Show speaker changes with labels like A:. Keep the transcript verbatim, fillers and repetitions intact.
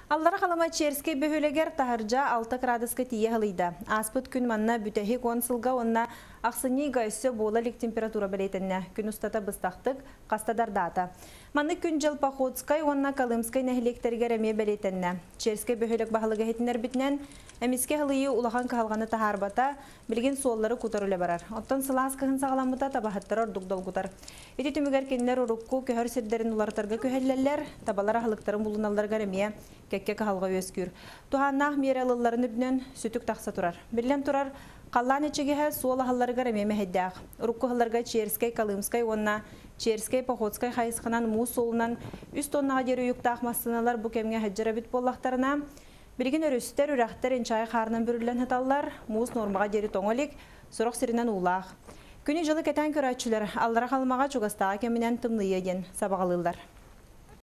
A: Аллара Халыма Черскэй бөһүөлэгэр таһырдьа алта градуска тиийэ халыйда. Ааспыт күн манна бүтэһик уон сылга уонна ахсынньы ыйга өссө буола илик температура бэлиэтэннэ. Күн устата быстахтык хаста дардаата. Маннык күн-дьыл Походскай уонна Колымскай нэһилиэктэригэр эмиэ бэлиэтэннэ. Черскэй бөһүөлэк баһылыга иһитиннэрбитинэн, эмискэ халыйыы улахан кыһалҕаны таһаарбата, билигин суоллары кутар үлэ барар. Оттон сылаас кыһын саҕаламмыта табаһыттары ордук долгутар. Ити түмүгэр кинилэр урукку көһөр сирдэрин уларытарга күһэллэллэр, табалар аһылыктарын булуналларыгар эмиэ кэккэ кыһалҕа үөскүүр. Туһааннаах миэрэ ылылларын үрдүнэн сүтүк тахса турар. Биллэн турар, халлаан ичигэһэ суол аһылларыгар эмиэ мэһэйдээх. Урукку аһылларга Черскэй, Колымскай уонна Черскэй, Походскай хайысханан муус суолунан үс тоннаҕа диэри уйуктаах массыыналар бу кэмҥэ сылдьар эбит буоллахтарына, билигин өрүстэр, үрэхтэр инчэҕэй хаарынан бүрүллэн сыталлар, муус нуормаҕа диэри тоҥо илик, сорох сиринэн уулаах. Күнү-дьылы кэтээн көрөөччүлэр Аллара Халымаҕа чугастааҕы кэминэн тымныйыа диэн сабаҕалыыллар.